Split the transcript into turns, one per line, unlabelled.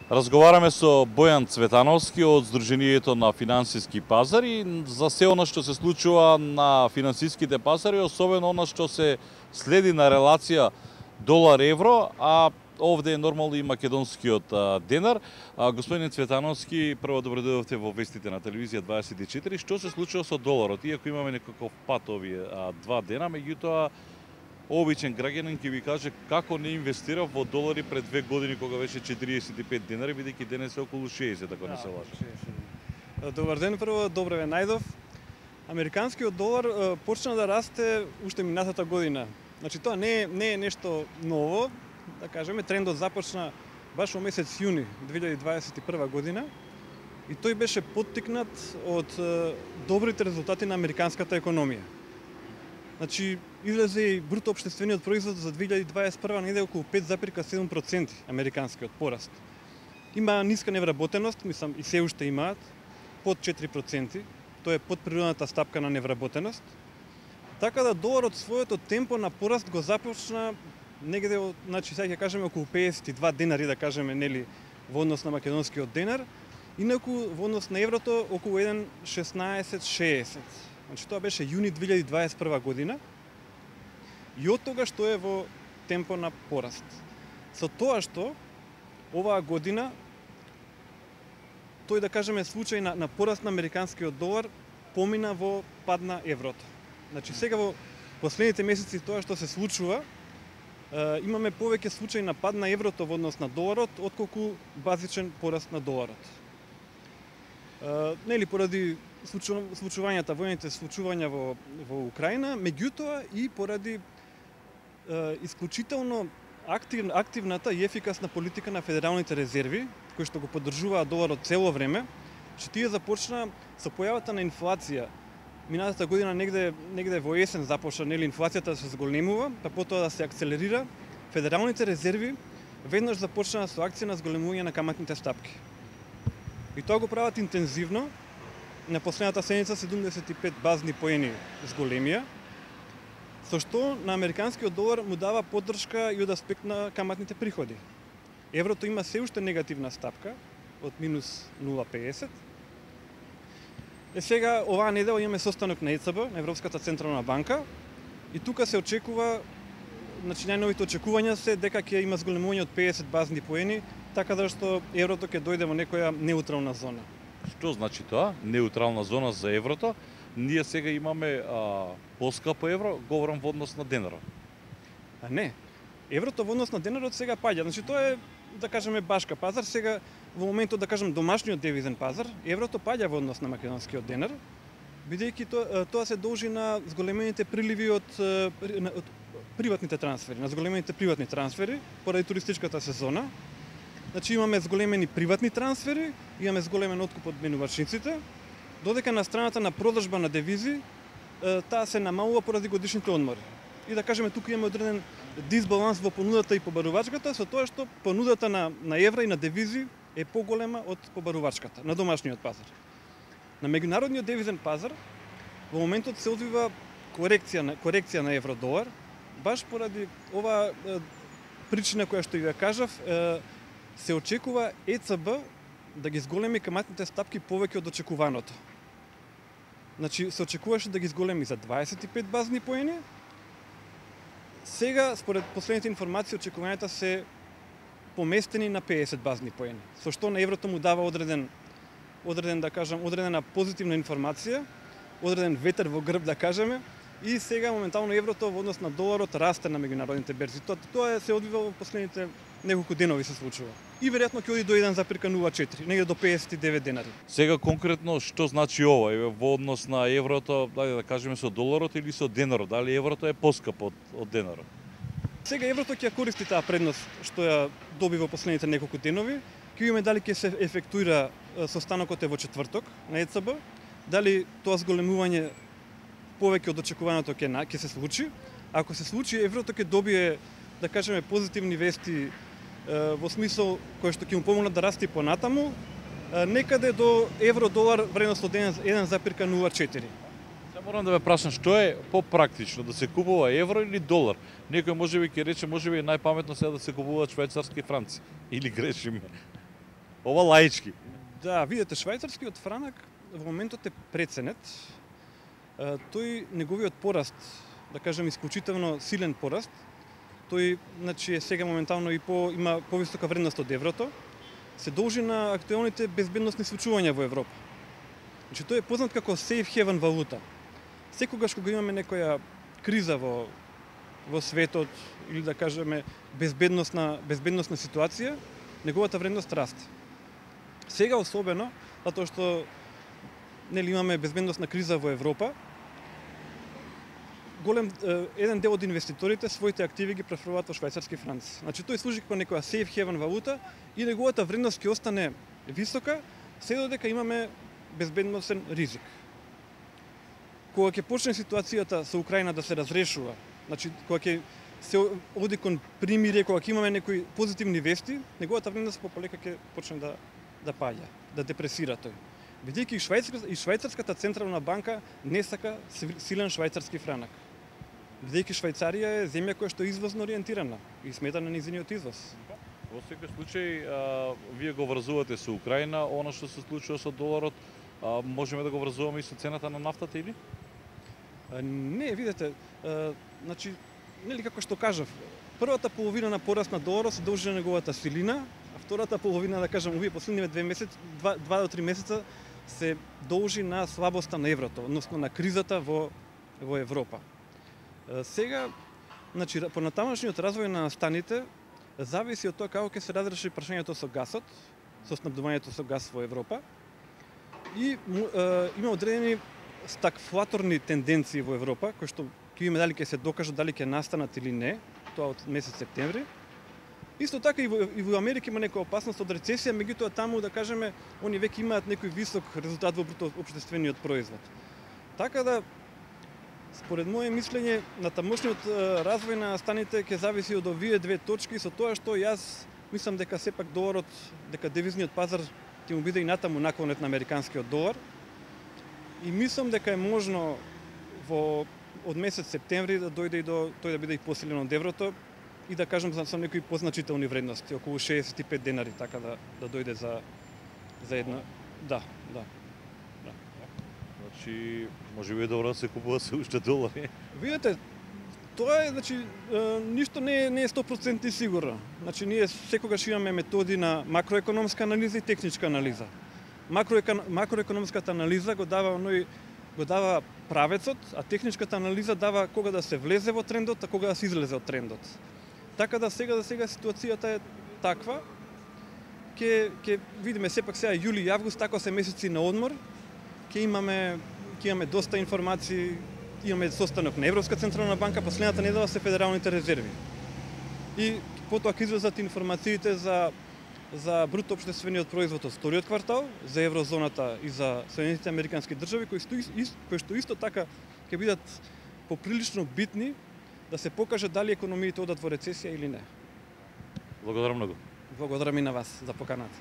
Разговараме со Бојан Цветановски од Сдруженијето на финансиски пазари за се она што се случува на финансиските пазари, особено она што се следи на релација долар-евро, а овде е нормално и македонскиот денар. Господин Цветановски, прво добро дојдовте во вестите на телевизија 24. Што се случува со доларот? Иако имаме некаков пат овие 2 дена, меѓутоа обичен граѓанин ќе ви каже како не инвестира во долари пред 2 години кога беше 45 денари, бидејќи денес е околу 60, ако не се лажам.
Добар ден, прво, добре ве најдов. Американскиот долар почна да расте уште минатата година. Значи тоа не е нешто ново, да кажеме, трендот започна баш во месец јуни 2021 година и тој беше поттикнат од добрите резултати на американската економија. Значи, излезе и бруто општествениот производ за 2021 неде околу 5,7% американскиот пораст. Има ниска невработеност, мислам и се уште имаат, под 4%, тоа е под природната стапка на невработеност. Така да доларот своето темпо на пораст го започна негде, значи сега ќе кажеме околу 52 денари, да кажеме, нели, во однос на македонскиот денар, инаку во однос на еврото околу 1,1660. Значи тоа беше јуни 2021 година и од тогаш што е во темпо на пораст. Со тоа што оваа година тој, да кажеме, случај на пораст на американскиот долар помина во пад на еврото. Значи сега во последните месеци тоа што се случува, имаме повеќе случаи на пад на еврото во однос на доларот отколку базичен пораст на доларот. Нели поради случувањата, воените случувања во Украина, меѓутоа и поради исклучително активната и ефикасна политика на федералните резерви, кои што го поддржуваат доларот цело време, што тие започна со појавата на инфлација. Минатата година негде во есен започна, нели, инфлацијата да се зголемува, па потоа да се акцелерира. Федералните резерви веднаш започнаа со акција на зголемување на каматните стапки. И тоа го прават интензивно. На последната седница 75 базни поени зголемија, со што на американскиот долар му дава поддршка и од аспект на каматните приходи. Еврото има се уште негативна стапка од минус 0,50. Сега оваа недела имаме состанок на ЕЦБ, на Европската централна банка, и тука се очекува, значи најновите очекувања се дека ќе има зголемување од 50 базни поени, така да што еврото ќе дојде во некоја неутрална зона.
Што значи тоа? Неутрална зона за еврото? Ние сега имаме поскапо евро, говорам во однос на денарот.
Не. Еврото во однос на денарот сега паѓа. Значи тоа е, да кажеме, башка пазар. Сега во моментот, да кажем, домашниот девизен пазар, еврото паѓа во однос на македонскиот денар, бидејќи тоа се должи на зголемените приливи од приватните трансфери, на зголемените приватни трансфери поради туристичката сезона. Значи имаме зголемени приватни трансфери, имаме зголемен откуп од менувачниците, додека на страната на продажба на девизи, таа се намалува поради годишните одмори. И да кажеме, тука имаме одреден дисбаланс во понудата и побарувачката, со тоа што понудата на евра и на девизи е поголема од побарувачката на домашниот пазар. На меѓународниот девизен пазар во моментот се одвива корекција на евро-долар, баш поради оваа причина која што ја кажав, се очекува ЕЦБ да ги зголеми каматните стапки повеќе од очекуваното. Значи, се очекуваше да ги зголеми за 25 базни поени. Сега, според последните информации, очекувањата се поместени на 50 базни поени, со што на еврото му дава одредена позитивна информација, одреден ветер во грб, да кажеме, и сега моментално еврото во однос на доларот расте на меѓународните берзи. Тоа се одвива во последните неколку денови се случува. И веројатно ќе оди до 1,04, негде до 59 денари.
Сега конкретно што значи ова во однос на еврото, да кажеме со доларот или со денарот? Дали еврото е поскапо од денарот?
Сега еврото ќе користи таа предност што ја доби во последните неколку денови. Ќе видиме дали ќе се ефектуира состанокот во четврток на ЕЦБ, дали тоа зголемување повеќе од очекуваното ќе се случи. Ако се случи, еврото ќе добие, да кажеме, позитивни вести во смисол кој што ќе му помогнат да расте понатаму, некаде до евро-долар вредност од 1,04.
Морам да ве прашам, што е попрактично, да се купува евро или долар? Некој можеби ќе рече, можеби е најпаметно сега да се купуваат швајцарски франци. Или грешиме? Ова лаички.
Да, видите, швајцарскиот франак во моментот е преценет. Тој неговиот пораст, да кажем исклучително силен пораст, тој значи е сега моментално има повисока вредност од еврото, се должи на актуелните безбедносни случувања во Европа. Значи тој е познат како safe haven валута. Секогаш кога имаме некоја криза во светот или да кажеме безбедносна ситуација, неговата вредност расте. Сега особено затоа што имаме безбедносна криза во Европа, еден дел од инвеститорите своите активи ги префрлуваат во швајцарски франци. Значи тој служи како некоја safe haven валута и неговата вредност ќе остане висока се додека имаме безбедносен ризик. Кога ќе почне ситуацијата со Украина да се разрешува, значи кога ќе се оди кон примирие, кога ќе имаме некои позитивни вести, неговата вредност полека ќе почне да паѓа, да депресира тој. Бидејќи и швајцарската централна банка не сака силен швајцарски франак. Бидејќи Швајцарија е земја која што е извозно ориентирана и смета на низиниот извоз.
Во секој случај, вие го врзувате со Украина, она што се случува со доларот, можеме да го врзуваме и со цената на нафтата или?
Не, видете, значи, нели како што кажав, првата половина на пораст на доларот се должи на неговата силина, а втората половина, да кажам, овие последниве 2 до 3 месеца се должи на слабоста на еврото, односно на кризата во Европа. Сега, значи, понатамошниот развој на станите зависи од тоа како ќе се разреши прашањето со гасот, со снабдувањето со гас во Европа. И има одредени стагфлаторни тенденции во Европа, кои што ќе видиме дали ќе се докажат, дали ќе настанат или не, тоа од месец септември. Исто така и во Америка има некоја опасност од рецесија, меѓутоа таму, да кажеме, они веќе имаат некој висок резултат во бруто општествениот производ. Така да, според моје мислење, на тамошниот развој на станите ќе зависи од овие две точки, со тоа што јас мислам дека сепак доларот, дека девизниот пазар ќе му биде и натаму наклонет на американскиот долар. И мислам дека е можно од месец септември да дојде и тој да биде и посилен од еврото и да кажам со некои позначителни вредности, околу 65 денари, така да дојде за една. Да.
Значи, може би е добро да се купува се уште долари.
Видете, тоа е, значи, ништо не е 100% сигурно. Значи, ние секогаш имаме методи на макроекономска анализа и техничка анализа. Макроекономската анализа го дава правецот, а техничката анализа дава кога да се влезе во трендот, а кога да се излезе од трендот. Така да сега ситуацијата е таква. Ќе видиме сепак сега јули и август, така се месеци на одмор. Ќе имаме доста информации, имаме состанок на Европска централна банка, последната недела се федералните резерви. И потоа ќе излезат информациите за бруто општествениот производ од вториот квартал, за еврозоната и за Соединетите американски држави, кои што исто така ќе бидат поприлично битни да се покаже дали економиите одат во рецесија или не.
Благодарам многу.
Благодарам и на вас за поканата.